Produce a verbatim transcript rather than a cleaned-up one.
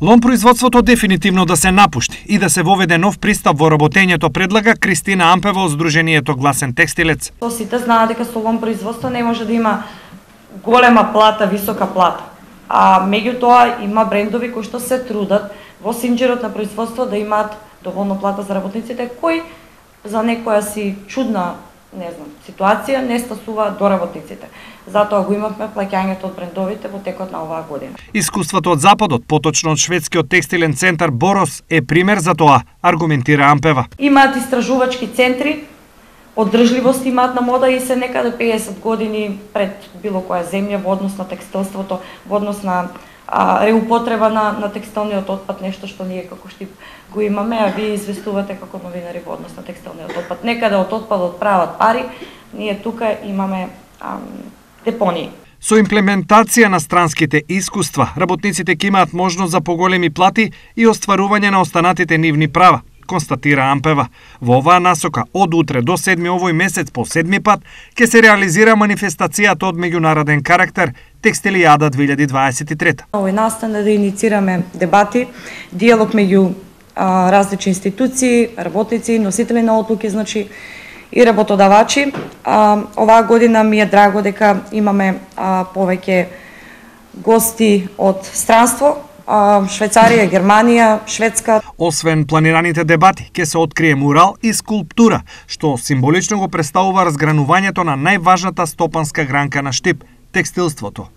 Лом производството дефинитивно да се напушти и да се воведе нов пристап во работењето, предлага Кристина Ампева од Сдруженијето Гласен текстилец. Сите знаат дека со лом производство не може да има голема плата, висока плата. А меѓутоа има брендови кои што се трудат во синџерот на производство да имаат доволно плата за работниците, кои за некоја си чудна, не знам, ситуација не стасуваат до работниците. Затоа го имавме плаќањето од брендовите во текот на оваа година. Искуството од Западот, поточно од шведскиот текстилен центар Борос, е пример за тоа, аргументира Ампева. Имаат истражувачки центри, одржливост имаат на мода и се некаде педесет години пред било која земја во однос на текстилството, во однос на а, реупотреба на, на текстилниот отпад, нешто што ние како Штип го имаме, а вие известувате како новинари во однос на текстилниот отпад. Некаде од отпадот прават пари, ние тука имаме ам, депонии. Со имплементација на странските искуства, работниците ќе имаат можност за поголеми плати и остварување на останатите нивни права, констатира Ампева. Во оваа насока, од утре до седми овој месец по седми пат, ќе се реализира манифестацијата од меѓународен карактер Текстилијада две илјади дваесет и трета. Овој настан е да иницираме дебати, диалог меѓу а, различни институции, работници, носители на одлуки, значи и работодавачи. А, оваа година ми е драго дека имаме а, повеќе гости од странство, а, Швајцарија, Германија, Шведска. Освен планираните дебати, ќе се открие мурал и скулптура, што символично го представува разгранувањето на најважната стопанска гранка на Штип – текстилството.